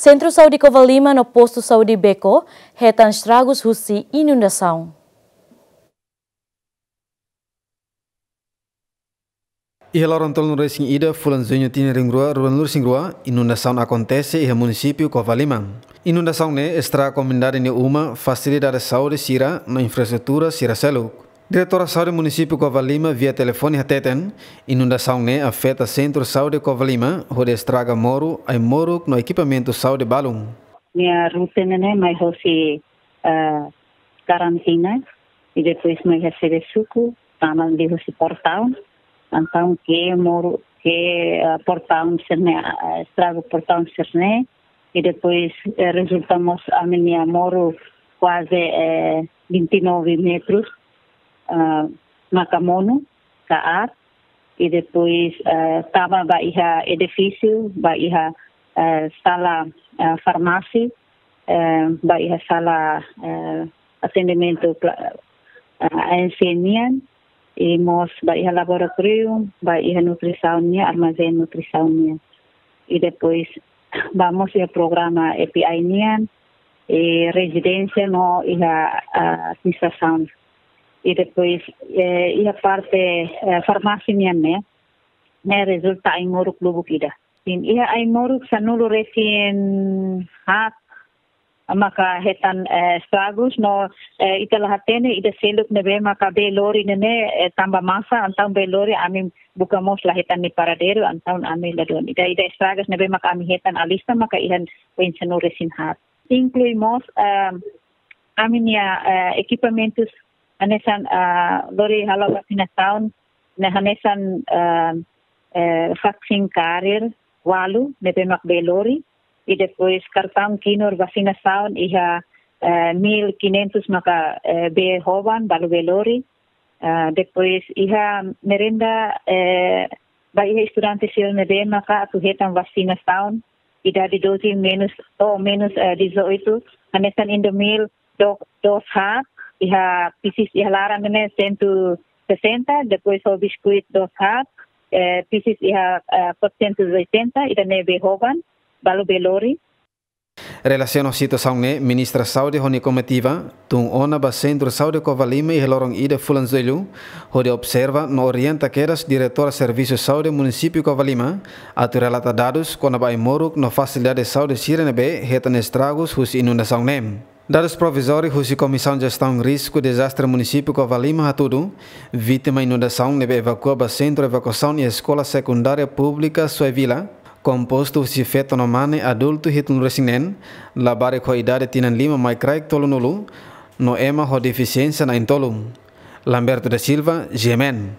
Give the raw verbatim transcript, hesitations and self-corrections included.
Sentru Saúde Covalima no Postu Saúde Beco hetan estragus husi inundasaun. Iha loron tolunulu-resin-ida fulan Juñu tinan rihun rua ruanulu-resin-rua, inundasaun akontese iha munisípiu Covalima. Inundasaun ne'e estraga komunidade nia uma, fasilidade saúde sira no infraestrutura sira seluk. Diretora Saúde Munisípiu Covalima via telefone hateten, inundasaun ne'e afeta Sentru Saúde Covalima, hodi estraga moru, ai-moruk no ekipamentu saúde balun. Nia rute ne'e mai hosi, eh, Karantina, i depois mai iha Sebesuku, tama liuhusi Portaun. Entaun ke moru, ke, eh, Portaun sira-ne'e, eh, estraga Portaun sira-ne'e, i depois, eh, rezulta mós ami-nia moru kuaze, eh, vinte e nove metros, ah, maka monu, kaer, i depois, eh, tama ba iha edifísiu, ba iha, eh, sala, eh, farmásia, eh, ba iha sala, eh, atendimentu pla-, eh, A N C nian, i mós ba iha laboratóriu, ba iha nutrisaun nian, armazén nutrisaun nian. I depois ba mós iha programa A P I nian, i rezidénsia no iha, ah, administrasaun. I depois, eh, iha parte, eh, farmásia nian ne'e, ne'e rezulta ai-moruk lubuk ida. Sin, iha ai-moruk sanulu-resin-haat maka hetan, eh, estragus no, eh, ita la hatene ida seluk ne'ebé maka bee lori ne'e, eh, tanba masa, entaun bee lori ami buka mós la hetan nia paradeiru, entaun ami ladún. Ida, ida estragus ne'ebé maka ami hetan alista maka iha oin sanulu-resin-haat. Inklui mós, eh, ami-nia, eh, ekipamentus hanesan, eh, lori halo vasinasaun, ne'e hanesan, eh, eh, vaksin carrier ualu ne'ebé mak bee lori, i depois kartaun kinur vasinasaun iha, eh, mil quinhentos maka, eh, bee hoban, balu bee lori. Eh, depois iha merenda, eh, ba iha estudante sira ne'ebé maka atu hetan vasinasaun, idade doze menus, ou menus, eh, dezoito, hanesan Indomil do-, dos haat, iha pisis iha laran ne'e cento e sessenta, depois ho biskuit dos haat, eh, pisis iha, eh, quatrocentos e oitenta, ida-ne'e bee hoban, balu bee lori. Relasiona ho situasaun ne'e, Ministra Saúde ho nia komitiva tun ona ba Sentru Saúde Covalima iha loron ida fulan Jullu, hodi observa no orienta kedas Diretora Servisu Saúde Munisípiu Covalima atu relata dadus kona-ba ai-moruk no fasilidade saúde sira ne'ebé hetan estragus husi inundasaun ne'e. Dadus provizóriu husi Komisaun Jestaun Risku Dezastre Munisípiu Covalima hatudu, vítima inundasaun ne'ebé evakua ba Sentru Evakuasaun iha Eskola Sekundária Públika Suai Vila, kompostu husi feto no mane adultu hitunulu-resin-neen, labarik ho idade tinan lima mai kraik tolunulu, no ema ho defisiénsia na'in-tolu. Lamberto da Silva, G M N.